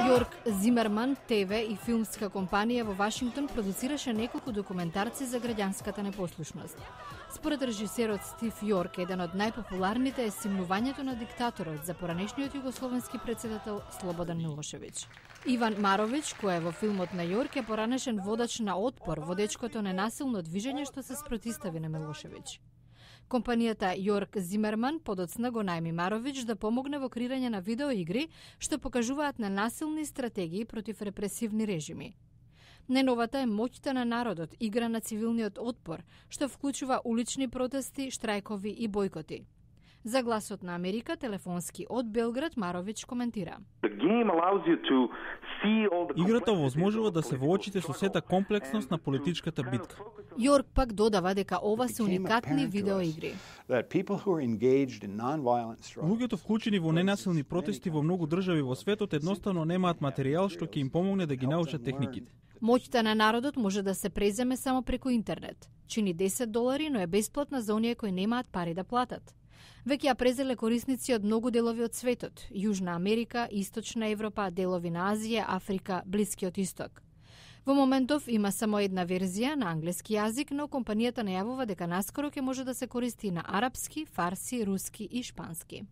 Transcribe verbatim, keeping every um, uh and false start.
Јорк Зимерман, ТВ и филмска компанија во Вашингтон продуцираше неколку документарци за граѓанската непослушност. Според режисерот Стив Јорк, еден од најпопуларните е симнувањето на диктаторот за поранешниот југословенски претседател Слободан Милошевиќ. Иван Маровиќ, кој е во филмот на Јорк, е поранешен водач на отпор, водечкото ненасилно движење што се спротистави на Милошевиќ. Компанијата Јорк Зимерман подоцна го најми Маровиќ да помогне во креирање на видеоигри што покажуваат ненасилни стратегии против репресивни режими. Неновата е моќта на народот, игра на цивилниот отпор, што вклучува улични протести, штрајкови и бојкоти. За Гласот на Америка, телефонски од Белград, Маровиќ коментира. Играта овозможува да се воочите со сета комплексност на политичката битка. Јорк пак додава дека ова се уникатни видеоигри. Луѓето вклучени во ненасилни протести во многу држави во светот едноставно немаат материјал што ќе им помогне да ги научат техниките. Моќта на народот може да се преземе само преку интернет. Чини десет долари, но е бесплатна за оние кои немаат пари да платат. Веќе ја презеле корисници од многу делови од светот: Јужна Америка, Источна Европа, делови на Азија, Африка, Блискиот Исток. Во моментов има само една верзија на англиски јазик, но компанијата најавува дека наскоро ќе може да се користи на арапски, фарси, руски и шпански.